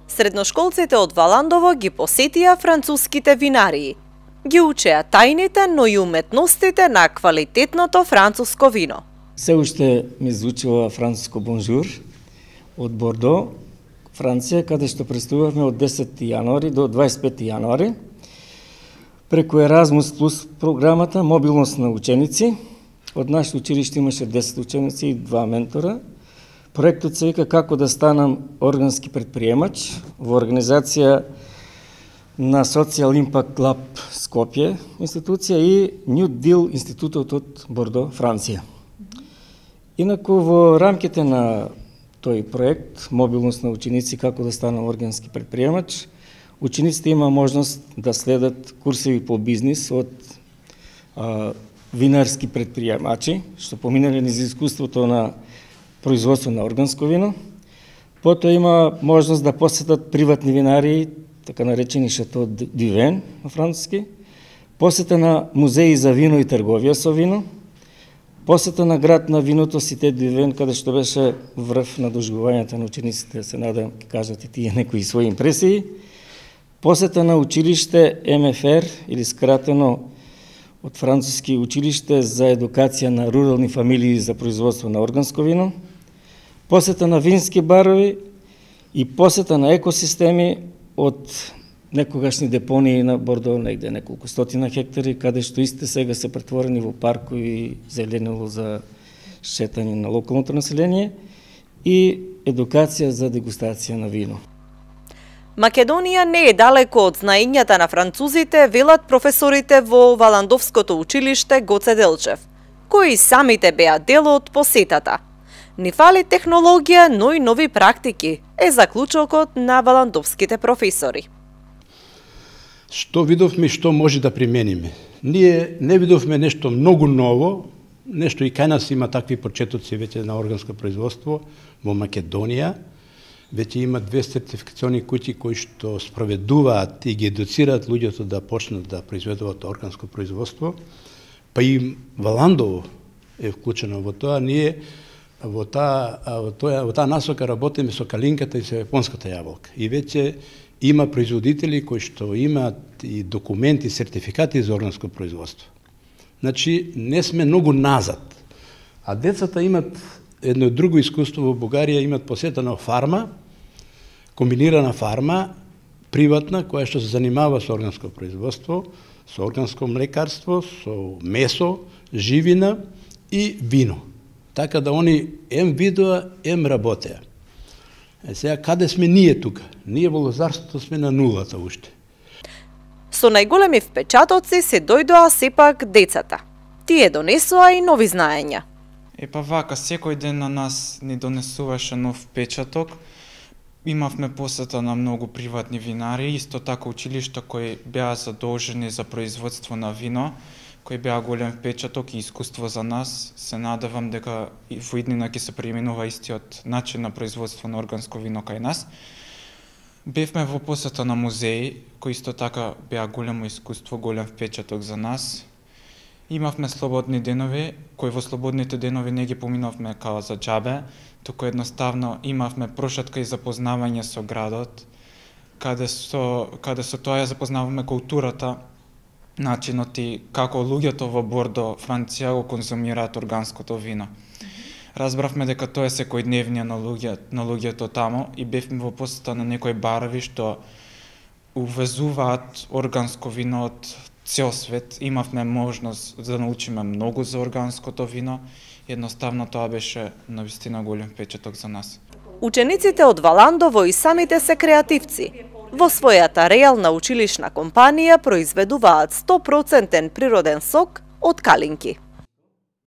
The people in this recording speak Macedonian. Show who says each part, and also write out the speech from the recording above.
Speaker 1: Средношколците од Валандово ги посетија француските винарии. Ги учеа тајните, но и уметностите на квалитетното француско вино.
Speaker 2: Се уште ми звучува француско бонжур од Бордо, Франција, каде што пристигнавме од 10 јануари до 25 јануари. Преку Еразмус плюс програмата мобилност на ученици. Од нашето училиште имаше 10 ученици и 2 ментора. Проектот се вика како да станам органски предприемач во организација на Social Impact Lab Скопје институција и New Deal институтот од Бордо, Франција. Инаку во рамките на тој проект мобилност на ученици како да станам органски предприемач, учениците има можност да следат курсеви по бизнис од винарски предприемачи, што поминале низ искуството на производство на органско вино. Потоа има можност да посетат приватни винарии, така наречени Шато Дювен на француски, посета на музеи за вино и трговија со вино, посета на град на виното Сите Дювен, каде што беше врв на доживувањето на учениците, се надам ќе кажат и тие некои своји импресии, посета на училиште МФР, или скратено од француски училиште за едукација на рурални фамилии за производство на органско вино, посета на вински барови и посета на екосистеми од некогашни депонии на Бордо, негде неколку стотина хектари, каде што истите сега се претворени во паркови и зеленило за шетање на локалното население и едукација за дегустација на вино.
Speaker 1: Македонија не е далеко од знаењата на французите, велат професорите во Валандовското училиште Гоце Делчев, кои самите беа дел од посетата. Ни фали технологија, но и нови практики, е заклучокот на валандовските професори.
Speaker 3: Што видовме и што може да примениме? Ние не видовме нешто многу ново, нешто и кај нас има такви почетоци веќе на органско производство во Македонија. Веќе има 2 сертификациони куќи кои што спроведуваат и ги едуцираат луѓето да почнат да произведуваат органско производство, па и Валандово е вклучено во тоа. Ние во таа насока работиме со калинката и со јапонската јаболка. И веќе има производители кои што имаат и документи, сертификати за органско производство. Значи, не сме многу назад. А децата имат едно друго искуство во Бугарија, имат посетена фарма, комбинирана фарма, приватна, која што се занимава со органско производство, со органско млекарство, со месо, живина и вино. Така да они ем видоа, ем работеа. Сега, каде сме ние тука? Ние во лозарството сме на нулата уште.
Speaker 1: Со најголеми впечатоци се дојдоа сепак децата. Тие донесоа и нови знаења.
Speaker 4: Епа вака, секој ден на нас ни донесуваше нов впечаток. Имавме посета на многу приватни винари, исто така училишта кои беа задолжени за производство на вино, кои беа голем впечаток и искуство за нас. Се надевам дека во иднина ќе се применува истиот начин на производство на органско вино кај нас. Бевме во посета на музеи, кои исто така беа големо искуство, голем впечаток за нас. Имавме слободни денови, кои во слободните денови не ги поминавме као за џабе, туку едноставно имавме прошетка и запознавање со градот, каде со тоа ја запознаваме културата, начинот и како луѓето во Бордо, Франција, го конзумираат органското вино. Разбравме дека тоа е секојдневнија на луѓето таму и бевме во посета на некои барови што увезуваат органско вино од цел свет. Имавме можност да научиме многу за органското вино. Едноставно тоа беше навистина голем впечаток за нас.
Speaker 1: Учениците од Валандово и самите се креативци. Во својата реална училишна компанија произведуваат 100% природен сок од калинки.